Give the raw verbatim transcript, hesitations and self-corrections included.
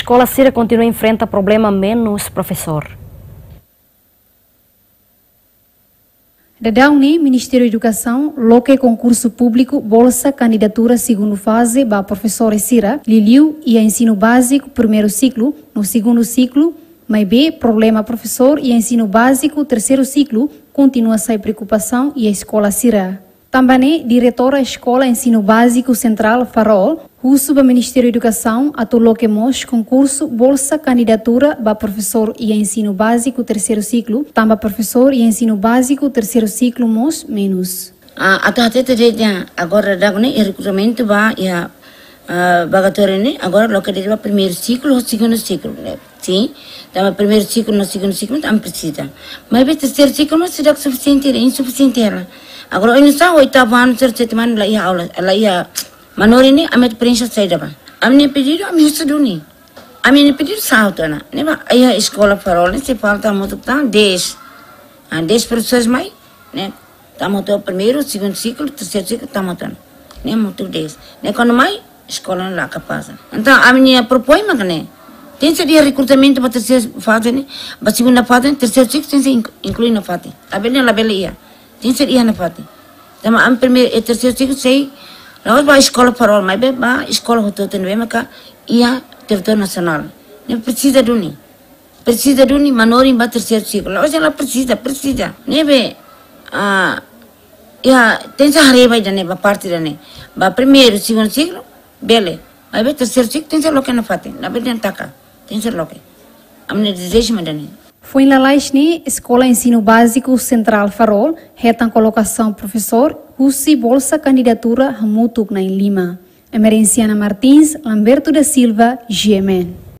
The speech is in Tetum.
Eskola sira kontinua enfrenta problema menus profesór. Daudaun ne'e, Ministériu Edukasaun loke konkursu públiku bolsa kandidatura segundu faze ba profesores sira, liuliu iha ensinu báziku primeiru siklu no segundu siklu, maibé problema profesór iha ensinu báziku terseiru siklu kontinua sai preokupasaun iha eskola sira. Tanba ne'e, Diretora Eskola Ensinu Báziku Sentrál Farol husu ba Ministériu Edukasaun atu loke mós konkursu bolsa kandidatura ba profesór iha ensinu báziku terseiru siklu, tanba profesór iha ensinu báziku terseiru siklu mós menus. Ah, atu hatete de'it, agora daudaun ne'e, iha rekrutamentu ba iha, ah, vaga tuir ne'e, agora loke de'it ba primeiru siklu ho segundu siklu, ne'e. Sin, tanba primeiru siklu no segundu siklu, ami presiza. Maibé terseiru siklu mós seidauk sufisiente, insufisiente hela. Agora, oinsá oitavu anu, seidauk, sétimu anu, la iha aula, la iha manorin ne'e, ami atu preenxe saida ba. Ami-nia pedidu, ami husu duni. Ami-nia pedidu sa'e hotu ona. Ne'ebá, iha Eskola Farol ne'e, sei falta hamutuk tan dez. Ah, dez profesores mai, ne'e, tama hotu primeiru, segundu siklu, terseiru siklu, tama hotu ona. Ne'e hamutuk dez. Ne'e kuandu mai, eskola ne'e la kapás. Entaun, ami-nia propoin mak ne'e. Tenke iha rekrutamentu ba terseiru faze ne'e, ba segunda faze ne'e, terseiru siklu tenke inklui, inklui nafatin. Labele, labele iha. Tenke iha nafatin. Tanba ami primeiru, eh, terseiru siklu sei, la'ós ba Eskola Farol, maibé ba eskola hotu-hotu ne'ebé maka iha territóriu nasionál. Ne'e presiza duni. Presiza duni manorin ba terseiru siklu. La'ós la presiza, presiza. Ne'ebé, ah, iha, tenke haree ba ida-ne'e, ba parte ida-ne'e. Ba primeiru, segundu siklu, bele. Maibé terseiru siklu tenke loke nafatin. Labele dehan taka. Tenke loke. Ami-nia dezeju mak ida-ne'e. Foin lalais ne'e, Eskola Ensinu Báziku Sentrál Farol hetan kolokasaun profesór husi bolsa kandidatura hamutuk na'in lima. Emerenciana Martins, Lamberto da Silva, G M N.